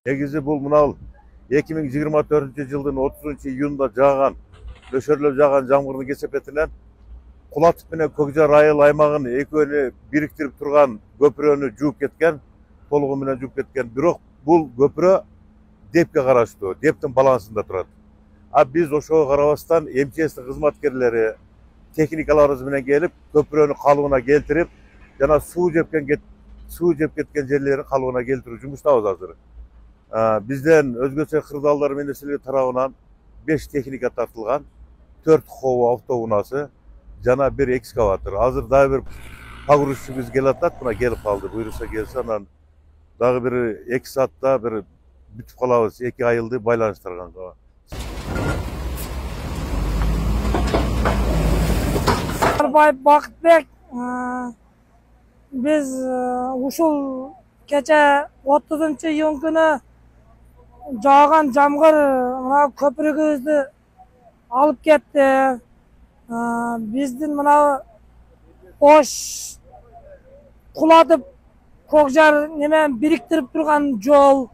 Негизи бул мына 2024-жылдын 30-июнунда жааган, нөшөрлөп жааган жамгырдын кесепетинен Кулатов менен Көкжар айыл аймагын экөөнү бириктирип турган көпүрөнү жууп кеткен, толугу менен жууп кеткен. Бирок бул көпүрө депке караштуу, дептин балансында турат. А биз ошого карабастан МЧСтин кызматкерлери техникаларыбыз менен келип, көпүрөнү калыбына келтирип, жана суу жеп кеткен жерлерин калыбына келтирүү жумуштабыз азыр. Бизден өзгөчө кырдаалдар менен нерселер тарабынан 5 техника тартылган, 4 хоо автоунаасы жана 1 экскаватор. Азыр дагы бир погрузчубуз келатат, мына келип калды. Буйруса келсе, анан дагы бир 2 саатта бир бүтүп калабыз, 2 айылды байланыштырганга. Бакытбек, биз ушул кече 30-июнь күнү жааган жамгыр мына көпүрөгүбүздү алып кетти. Биздин мына Ош Кулатов Көкжар немен бириктирип турган жол.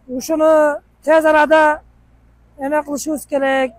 Ушуну тез арада эме кылышыбыз керек.